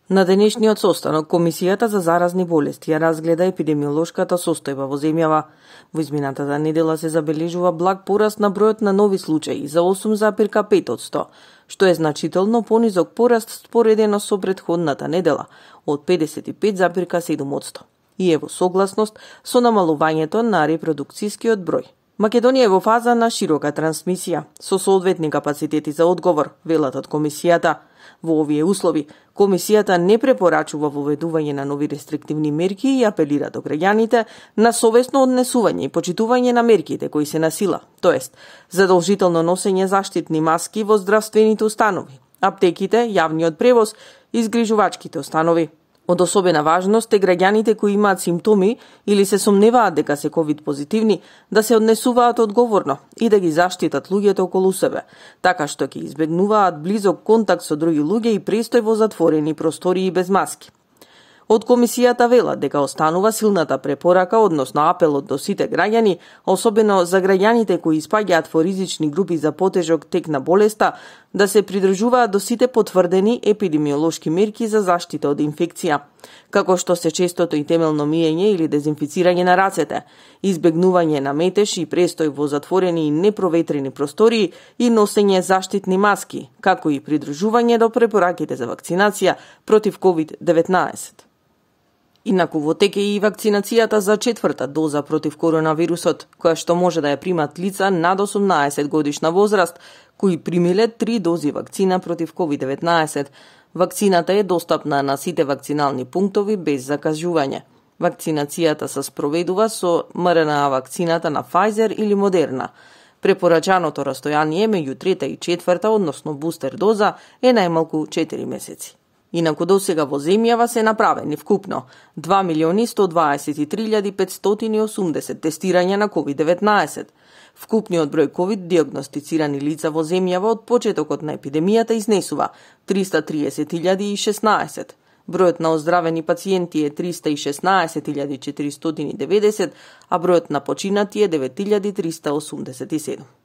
На денешниот состанок, Комисијата за заразни болести ја разгледа епидемиолошката состојба во земјава. Во изминатата недела се забележува благ пораст на бројот на нови случаи за 8,5%, што е значително понизок пораст споредено со претходната недела од 55,7%. И е во согласност со намалувањето на репродукцијскиот број. Македонија е во фаза на широка трансмисија, со соодветни капацитети за одговор, велат од Комисијата. Во овие услови, Комисијата не препорачува воведување на нови рестриктивни мерки и апелира до граѓаните на совесно однесување и почитување на мерките кои се на сила, тоест задолжително носење заштитни маски во здравствените установи, аптеките, јавниот превоз и згрижувачките установи. Од особена важност е граѓаните кои имаат симптоми или се сомневаат дека се ковид позитивни да се однесуваат одговорно и да ги заштитат луѓето околу себе, така што ќе избегнуваат близок контакт со други луѓе и престој во затворени простории без маски. Од Комисијата велат дека останува силната препорака, односно апелот до сите граѓани, особено за граѓаните кои испаѓаат во ризични групи за потежок тек на болеста, да се придржуваат до сите потврдени епидемиолошки мерки за заштита од инфекција, како што се честото и темелно миење или дезинфицирање на рацете, избегнување на метеж и престој во затворени и непроветрени простории и носење заштитни маски, како и придржување до препораките за вакцинација против COVID-19. Инаку во тек е и вакцинацијата за 4-та доза против коронавирусот, која што може да ја примат лица над 18 годишна возраст, кои примиле 3 дози вакцина против COVID-19. Вакцината е достапна на сите вакцинални пунктови без закажување. Вакцинацијата се спроведува со МРНА вакцината на Pfizer или Moderna. Препорачаното растојание меѓу 3-та и 4-та, односно бустер доза, е најмалку 4 месеци. Инаку досега во земјава се направени вкупно 2.123.580 тестирања на COVID-19. Вкупниот број COVID диагностицирани лица во земјава од почетокот на епидемијата изнесува 330.016. Бројот на оздравени пациенти е 316.490, а бројот на починати е 9.387.